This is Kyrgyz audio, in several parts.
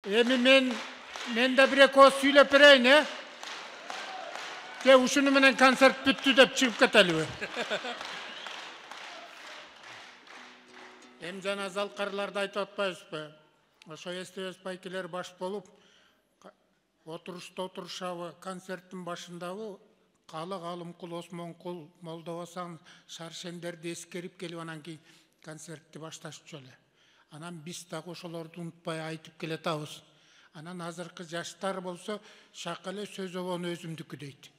Эми мен да бир эки ооз сүйлөп берейин, же ушуну менен концерт бүттү деп чыгып кетелиби? Эми жана залкарларды айтып атпайбызбы? Ошо эстебес байкелер баш болуп, отурушта отурушабы, концерттин башындабы Калы Калымкул, Осмонкул, Молдобасан, Шаршендерди эскерип келип анан кийин концертти башташчу эле. Анан биз дагы ошолорду унутпай айтып келатабыз. Анан азыркы жаштар болсо шак эле сөз обону өзүмдүкү дейт.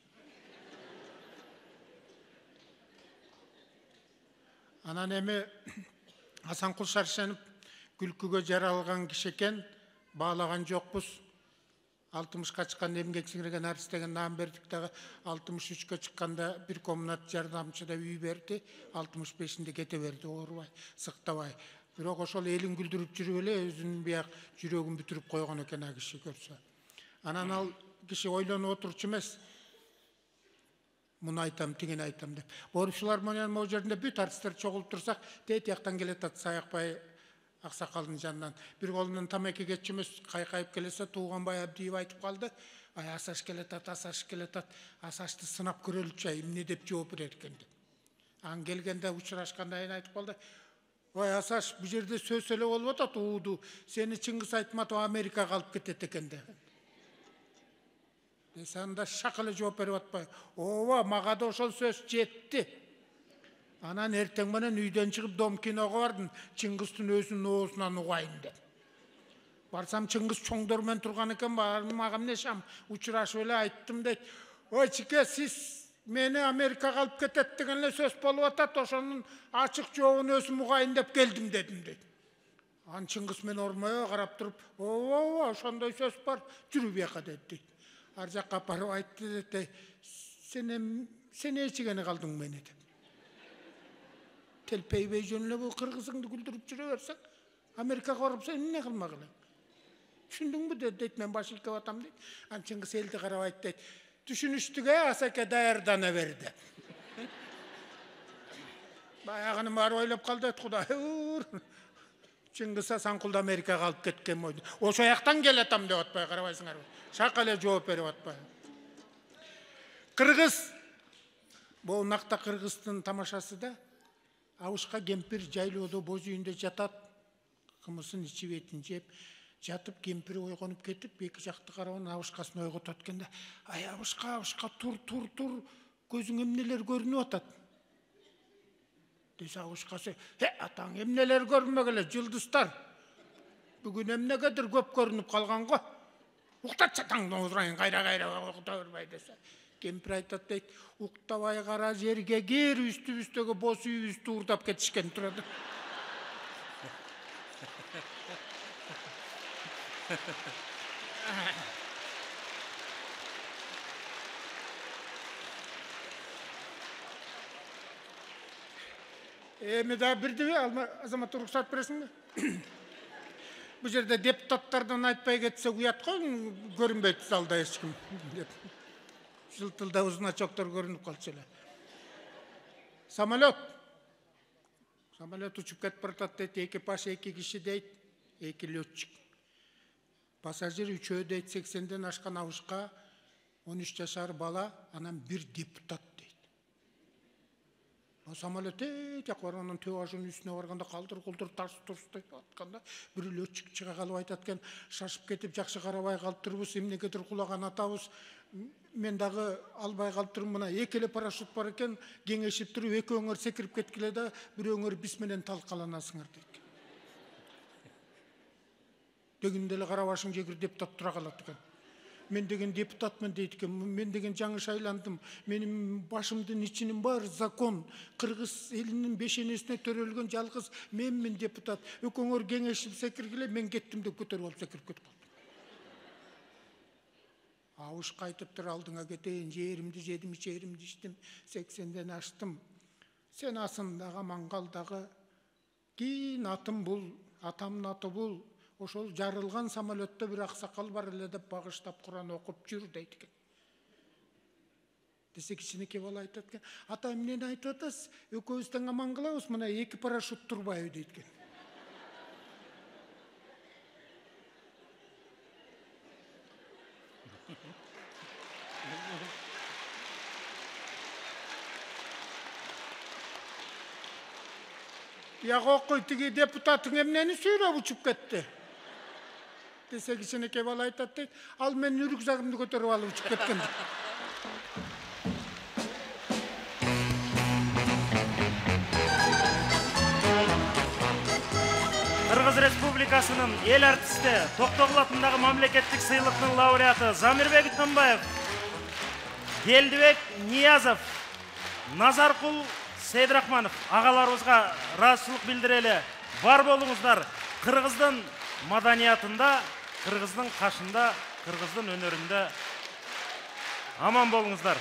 Анан эми Асанкул Шаршенов күлкүгө жаралган киши экен, баалаган жокпуз. 60-ка чыккан эмгек сиңирген артист деген наам бердик дагы 63-кө чыкканда бир комнат жардамчыда үй берди, 65-инде кете берди, оорубай, сыктабай. Бирок ошол элин күлдүрүп жүрүп эле өзүнүн бияк жүрөгүн бүтүрүп койгон экен а киши көрсө. Анан ал киши ойлонуп отурчу эмес. Муну айтам, тигини айтам деп. Боору филармониянын могу жеринде бүт артисттер чогулуп турсак, тет жактан келатат Саякбай аксакалдын жанынан. Бир колунан тамеки кетчү эмес, кайкайып келесе Тууганбай Абдиев айтып калды. Ай Асаш келатат, Асаш келатат. Асашты сынап көрөлүчү, эмне деп жооп берет экен деп. Анан келгенде учурашкандан кийин айтып калды. Ой Асаш, бу жерде сөз эле болуп атат, ууду. Сени Чыңгыз Айтматов Америкага алып кетет экен деп. Анда шак эле жооп берип атпай. Ооба, мага да ошол сөз жетти. Анан эртең менен үйдөн чыгып Дом киного бардым, Чыңгыздын өзүнүн оозунан угайын деп. Барсам Чыңгыз чоңдор менен турган экен, мага эмне шам учурашып эле айттым дейт. Ой чике, сиз мени Америкага алып кетет деген эле сөз болуп атат, ошонун ачык жообун өзүм угайын деп келдим дедим дейт. Анан Чыңгыз мени ормой карап туруп, ооба, ошондой сөз бар, жүрү бияка дейт. Ар жакка апарып айтты дейт. Сен эчигени калдың мени деп. Телпейбей жөн эле бул кыргызыңды күлдүрүп жүрө берсең, Америкага барып сен эмне кылмак элең? Түшүндүңбү дейт, мен баш ийкеп атам дейт. Анан Чыңгыз элди карап айтты дейт. Түшүнүштүк Асаке, даярдана бер деп. Баягыны баары ойлоп калды дейт, Кудай уур. Чыңгыз Асанкулду Америкага алып кеткен бойду. Ошо жактан келатам деп атпай карабайсыңарбы? Шак эле жооп берип атпай. Кыргыз, бул накта кыргыздын тамашасы да. Абышка кемпир жайлоодо боз үйүндө жатат, кымысын ичип этин жеп, жатып кемпири ойгонуп кетип, эки жакты карап анан абышкасын ойготот экен да. Ай абышка, тур, көзүң эмнелер көрүнүп атат? Десе абышкасы, атаң эмнелер көрүнмөгөле, жылдыздар. Бүгүн эмнегедир көп көрүнүп калган го. Уктатчы таңдан отурайын, кайра укта бербей десе. Кемпир айтат дейт, уктабай кара жерге кир, үстүбүздөгү боз үйүбүздү уурдап кетишкен турат. Эми да бирдиби, Азамат уруксат бересиңби? Бу жерде депутаттардан айтпай кетсек уят го, көрүнбөйт залда эч ким деп. Жылтылда узуначоктор көрүнүп калчу эле. Самолет учуп кетип баратат дейт, экипаж 2 киши дейт, 2 летчик. Пассажир 3 дейт, 80ден ашкан абышка, 13 жашар бала, анан 1 депутат дейт. Самолет жак бар, анан төбашынын үстүнө барганда калдыр-кулдур тарс-турс деп атканда, бир летчик чыга калып айтат экен, шашып кетип жакшы карабай калыптырбыз, эмнегедир кулаган атабыз. Мен дагы албай калыптырмын, мына 2 эле парашют бар экен, кеңешип туруп, экөөңөр секирип кеткиле да, бирөөңөр биз менен талкаланасыңар дейт. Дегенде эле карабашың жегир депутат тура калат экен. Мен деген депутатмын дейт экен, мен деген жаңы шайландым, менин башымдын ичинин баары закон, кыргыз элинин бешенесине төрөлгөн жалгыз менмин депутат. Экөөңөр кеңешип секиргиле, мен кеттим деп көтөрүп алып секирип кетип калды. Абышка айтып тур, алдыңа кетейин, жеримди жедим, ичеримди ичтим, 80ден аштым. Сен асындагы маңгалдагы кийин атым бул, атамдын аты бул. Ошол жарылган самолетте бир аксакал бар эле деп багыштап Куран окуп жүр дейт экен. Десе кичинекей бала айтат экен, ата эмнени айтып атасыз? Экөөбүз тең аман калабыз, мына 2 парашют турбайбы дейт экен. Я кокуй, тиги депутатың эмнени сүйлөп учуп кетти десе, кичинекей бала айтат дейт, ал менин рюкзагымды көтөрүп алып учуп кеткен. Кыргыз Республикасынын эл артисти, Токтогул атындагы мамлекеттик сыйлыктын лауреаты Замирбек Үтмөнбаев, Келдибек Ниязов, Назаркул Сейдрахманов агаларыбызга ыраазычылык билдирели. Бар болуңуздар. Кыргыздын маданиятында, кыргыздын кашында, кыргыздын өнөрүндө аман болуңуздар.